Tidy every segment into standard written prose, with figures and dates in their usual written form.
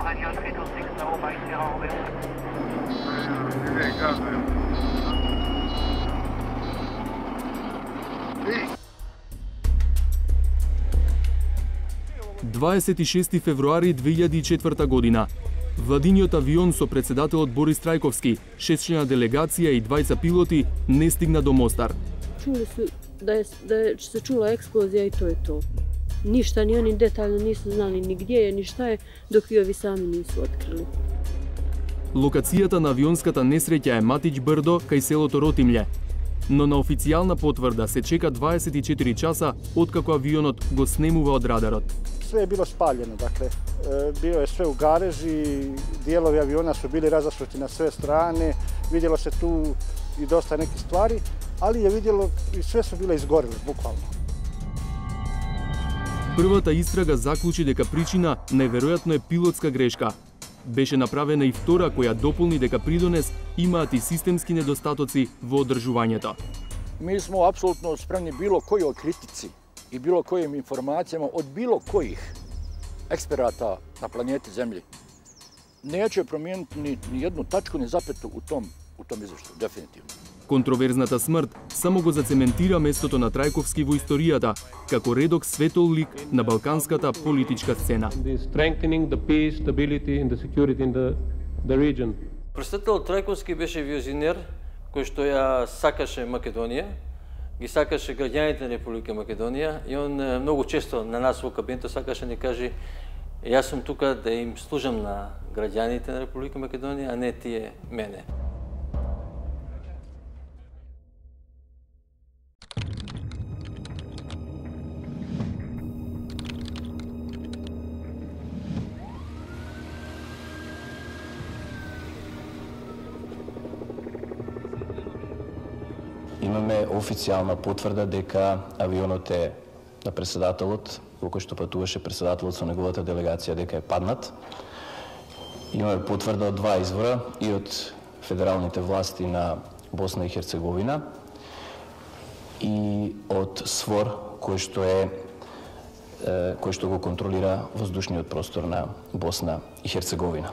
Radio 326 over in Sierra Romeo. Не, казвам. 26 февруари 2004 година. Владиниот авион со председателот Борис Трајковски, 6-члена делегација и 20 пилоти не стигна до Мостар. Čuli su da se čula eksplozija i to je to. Ništa, ni oni detaljno nisu znali ni gdje je, ni šta je, dok i ovi sami nisu otkrili. Локацијата на авионската несреќа е Матич Брдо, кај селото Ротимље. Но на официјална потврда се чека 24 часа откако авионот го снемува од радарот. Sve je bilo spaljeno, dakle, bio je sve u gareži, dijelovi aviona su bili razasuti na sve strane, vidjelo se tu i dosta nekih stvari, ali je vidjelo i sve su bile izgorele, bukvalno. Првата истрага заклучи дека причина неверојатно е пилотска грешка. Беше направена и втора која дополни дека придонес имаат и системски недостатоци во одржувањето. Mi smo apsolutno spremni bilo kojoj kritici i bilo kojim informacijama od bilo kojih eksperata na planeti Zemlji. Neće promijeniti ni jednu tačku, ni zapetu u tom izveštaju, definitivno. Контроверзната смрт само го зацементира местото на Трајковски во историјата, како редок светол лик на балканската политичка сцена. Председателот Трајковски беше визионер кој што ја сакаше Македонија, ги сакаше граѓаните на Република Македонија и он многу често на нас во кабинетот сакаше да ни каже јас сум тука да им служам на граѓаните на Република Македонија, а не тие мене. Имаме официјална потврда дека авионот е на председателот, во кој што патуваше председателот со неговата делегација, дека е паднат. Имаме потврда од два извора, и од федералните власти на Босна и Херцеговина и од СВОР, кој што го контролира воздушниот простор на Босна и Херцеговина.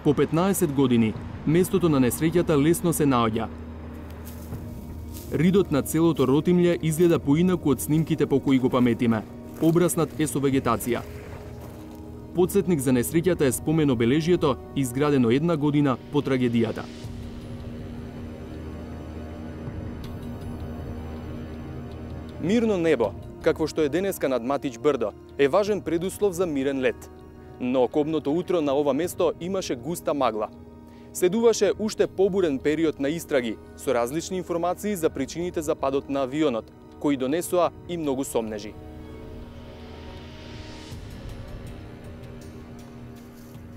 По 15 години, местото на несреќата лесно се наоѓа. Ридот на целото Ротимље изгледа поинаку од снимките по кои го паметиме. Обраснат е со вегетација. Подсетник за несреќата е спомен обележието, изградено една година по трагедијата. Мирно небо, какво што е денеска над Матич Брдо, е важен предуслов за мирен лет. Но кобното утро на ова место имаше густа магла. Следуваше уште побурен период на истраги, со различни информации за причините за падот на авионот, кои донесоа и многу сомнежи.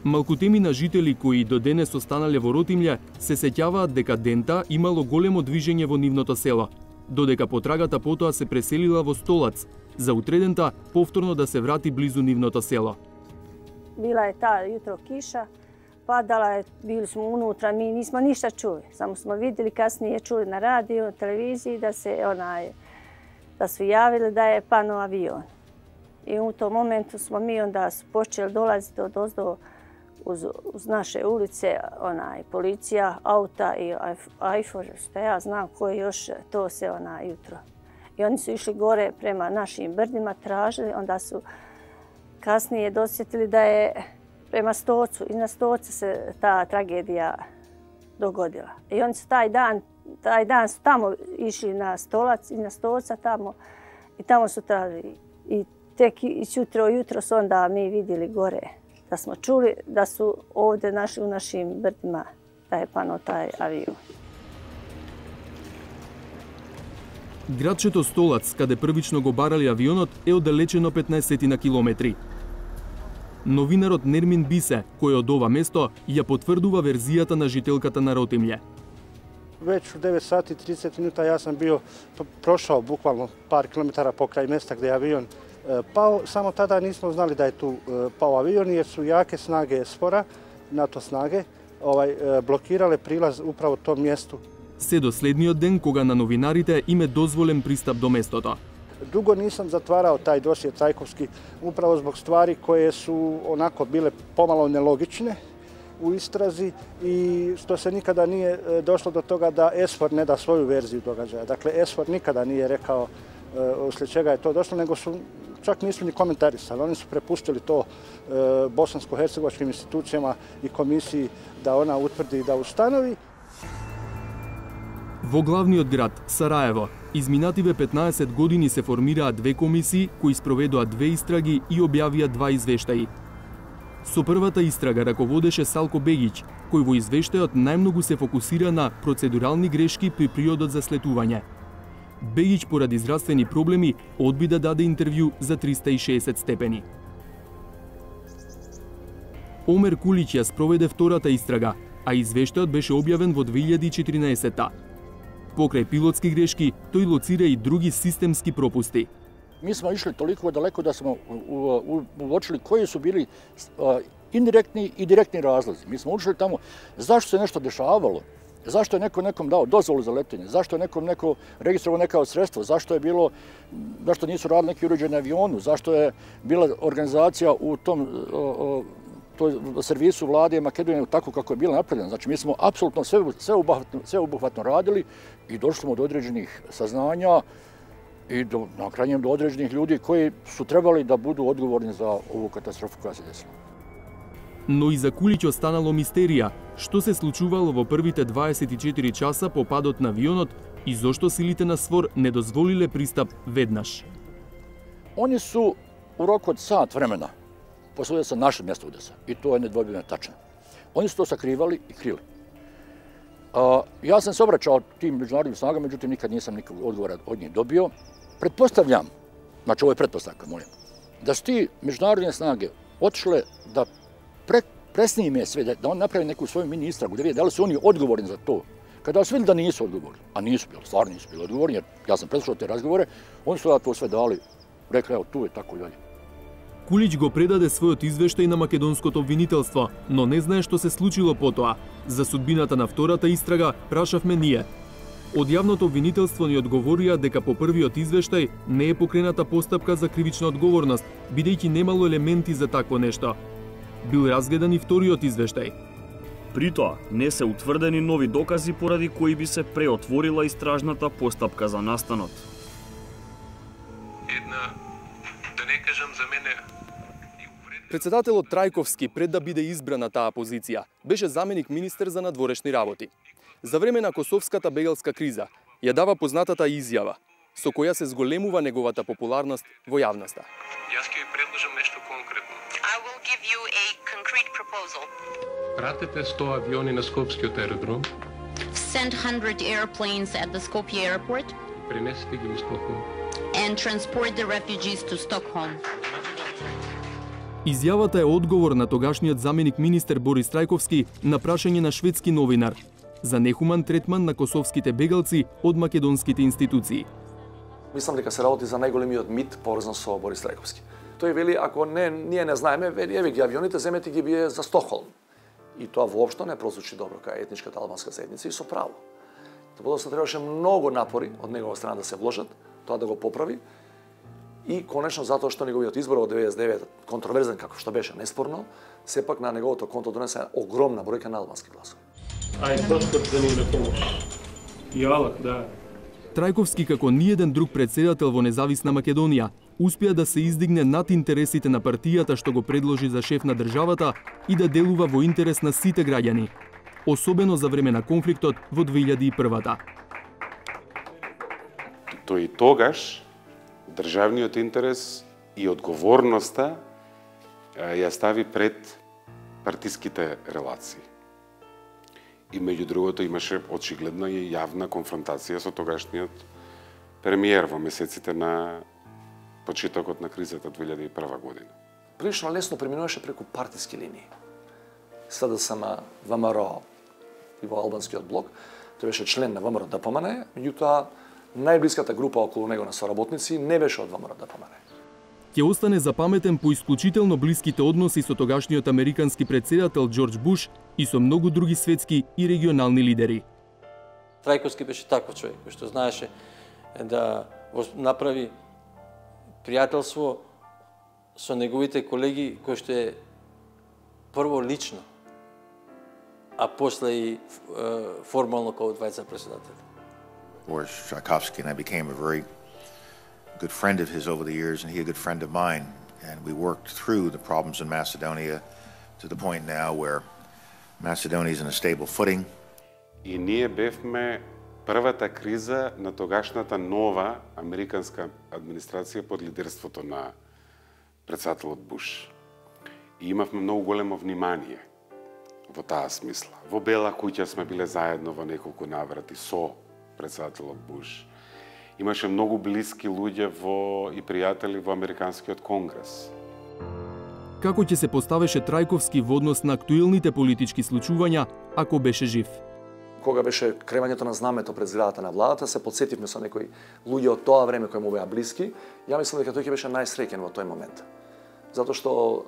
Малкутемина жители кои до денес останале во Ротимље се сеќаваат дека дента имало големо движење во нивното село, додека потрагата потоа се преселила во Столац, за утредента повторно да се врати близу нивното село. Bila je ta jutro kiša, padala je, bili smo unutra, mi nismo ništa čuli. Samo smo vidjeli kasnije, čuli na radiju, televiziji da su javili da je pano avion. I u tom momentu smo mi onda počeli dolaziti od ozdo uz naše ulice, policija, auta i AIFOR, što ja znam koji još to se jutro. I oni su išli gore prema našim brdima, tražili, onda su kasnije dosjetili da je prema Stocu, iznad Stoca se ta tragedija dogodila. I oni su taj dan su tamo išli na Stolac, iznad Stoca tamo i tamo su tražili. I tek jutro su onda mi vidjeli gore, da smo čuli da su ovdje u našim brdima da je pano taj avion. Градчето Столац, каде првично го барали авионот, е оддалечено 15 на километри. Новинарот Нермин Бисе, кој од ова место, ја потврдува верзијата на жителката на Ротимље. Već u 9 sati 30 minuta ja sam bio prošao bukvalno par kilometara pokraj mesta gdje je avion pao. Samo tada nismo znali da je tu pao avion jer su jake snage SFOR-a, NATO snage, blokirale prilaz upravo tom mjestu. Се до следниот ден кога на новинарите им е дозволен пристап до местото. Dugo nisam zatvarao taj dosje Trajkovski upravo zbog stvari koje su onako bile pomalo nelogične u istrazi i što se nikada nije došlo do toga da SFOR ne da svoju verziju događaja. Dakle, SFOR nikada nije rekao uslijed čega je to došlo, nego su čak nisu ni komentarisali. Oni su prepustili to bosansko-hercegovačkim institucijama i komisiji da ona utvrdi i da ustanovi. Во главниот град, Сараево, изминативе 15 години се формираа две комисии кои спроведоа две истраги и објавија два извештаи. Со првата истрага раководеше Салко Бегиќ, кој во извештајот најмногу се фокусира на процедурални грешки при приодот за слетување. Бегиќ поради здравствени проблеми одби да даде интервју за 360 степени. Омер Кулиќ ја спроведе втората истрага, а извештајот беше објавен во 2014-та. Покрај пилотски грешки, тој лоцира и други системски пропусти. Mi smo išli toliko daleko da smo uočili koji su bili indirektni i direktni razlozi. Mi smo ušli tamo zašto se nešto dešavalo, zašto je neko nekom dao dozvolu za letenje, zašto je neko registrovao neka sredstva, zašto nisu radili neki uređaj na avionu, zašto je bila organizacija u tom servisu vlade Makedonije tako kako je bila napravljena. Znači, mi smo apsolutno sveobuhvatno radili i došli smo do određenih saznanja i na krajnjem do određenih ljudi koji su trebali da budu odgovorni za ovu katastrofu koja se desila. Но и за Кулиќ останало мистерија, што се случувало во првите 24 часа по падот на авионот и зошто силите на СВОР не дозволиле пристап веднаш. Oni su u roku od sat vremena posudili sa naše mjesto udesa i to je nedvojbeno tačno. Oni su to sakrivali i krili. Ja sam se obraćao tim međunarodnim snagama, međutim nikad nisam nikog odgovora od njih dobio. Pretpostavljam, znači ovo je pretpostavka, molim, da su ti međunarodne snage otišle da presnime sve, da on napravi neku svoju mini istragu, da vidi da li su oni odgovorni za to. Kada su vidjeli da nisu odgovorni, a nisu bili, stvarno nisu bili odgovorni, jer ja sam preslušao te razgovore, oni su to sve dali, rekli, evo, tu je tako i dalje. Кулиќ го предаде својот извештај на македонското обвинителство, но не знае што се случило потоа. За судбината на втората истрага прашавме ние. Од јавното обвинителство ни одговорија дека по првиот извештај не е покрената постапка за кривична одговорност, бидејќи немало елементи за такво нешто. Бил разгледан и вториот извештај. При тоа не се утврдени нови докази поради кои би се преотворила истражната постапка за настанот. Да не кажам за мене. Председателот Трајковски, пред да биде избран на таа позиција, беше заменик министер за надворешни работи. За време на косовската бегалска криза ја дава познатата изјава, со која се зголемува неговата популарност во јавноста. Јас ќе ви предложам нешто конкретно. I will give you a concrete proposal. Пратете 100 авиони на Скопскиот аеродром. Send 100 airplanes at the Skopje airport. Пренесете ги во Стокхолм. And transport the refugees to Stockholm. Изјавата е одговор на тогашниот заменик министер Борис Трајковски на прашање на шведски новинар за нехуман третман на косовските бегалци од македонските институции. Мислам дека се работи за најголемиот мит поврзан со Борис Трајковски. Тој вели, ако ние не знаеме, вели, еве ги авионите, земете ги бие за Стокхолм. И тоа воопшто не прозвучи добро кај етничката албанска заедница и со право. Подоцна требаше многу напори од негова страна да се вложат, тоа да го поправи. И конечно, затоа што неговиот избор од 99 контроверзен, како што беше неспорно, сепак на неговото конто донесе огромна бројка на албански гласови. Ај, Господ да ни на помош. И Аллах, да. Трајковски, како ниеден друг председател во независна Македонија, успеа да се издигне над интересите на партијата што го предложи за шеф на државата и да делува во интерес на сите граѓани, особено за време на конфликтот во 2001-та. Тој тогаш државниот интерес и одговорноста ја стави пред партиските релации. И меѓу другото имаше очигледна и јавна конфронтација со тогашниот премиер во месеците на почетокот на кризата 2001 година. Прилично лесно преминуваше преку партиски линии. СДСМ, ВМРО и во албанскиот блок, тој беше член на ВМРО ДПМН, меѓутоа најблиската група околу него на соработници не беше од ВМРО ДПМН. Ќе остане запаметен по исклучително блиските односи со тогашниот американски председател Џорџ Буш и со многу други светски и регионални лидери. Трајковски беше таков човек кој што знаеше да направи пријателство со неговите колеги, кој што е прво лично, а после и формално како двајца председатели. Boris Tchaikovsky and I became a very good friend of his over the years, and he a good friend of mine. And we worked through the problems in Macedonia to the point now where Macedonia is in a stable footing. И ние бевме првата криза на тогашната нова американска администрација под лидерството на председателот Буш. И имавме многу големо внимание во таа смисла. Во Бела куќа сме биле заедно во неколку наврати со председателот Буш. Имаше многу блиски луѓе и пријатели во Американскиот конгрес. Како ќе се поставеше Трајковски во однос на актуелните политички случувања ако беше жив? Кога беше кревањето на знамето пред зградата на владата, се подсетивме со некои луѓе од тоа време кои му беа блиски. Ја мислам дека тој ќе беше најсреќен во тој момент. Затоа што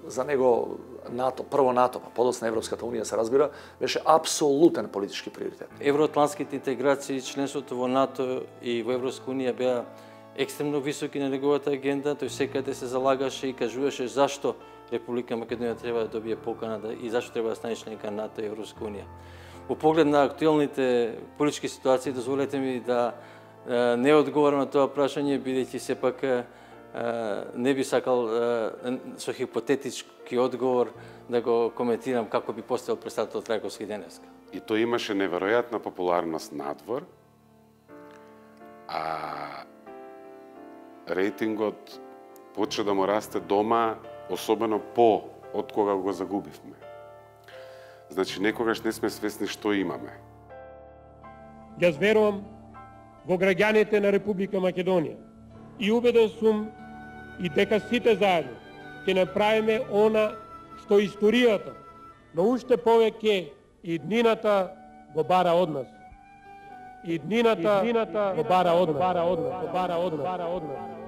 за него НАТО, прво НАТО, па подоцна Европската унија се разбира, беше апсолутен политички приоритет. Евроатлантските интеграции, членството во НАТО и во Европска унија беа екстремно високи на неговата агенда. Тој секаде се залагаше и кажуваше зашто Република Македонија треба да добие покана и зашто треба да стане членка на НАТО и Европска унија. Во поглед на актуелните политички ситуации, дозволете ми да не одговорам на тоа прашање, бидејќи сепак не би сакал со хипотетички одговор да го коментирам како би поставил председател Трајковски денеска. И тој имаше неверојатна популарност надвор, а рейтингот почна да му расте дома, особено од кога го загубивме. Значи, некогаш не сме свесни што имаме. Јас верувам во граѓаните на Република Македонија и убеден сум и дека сите заедно ќе направиме она што историјата, но уште повеќе и днината го бара од нас. И днината го бара од нас.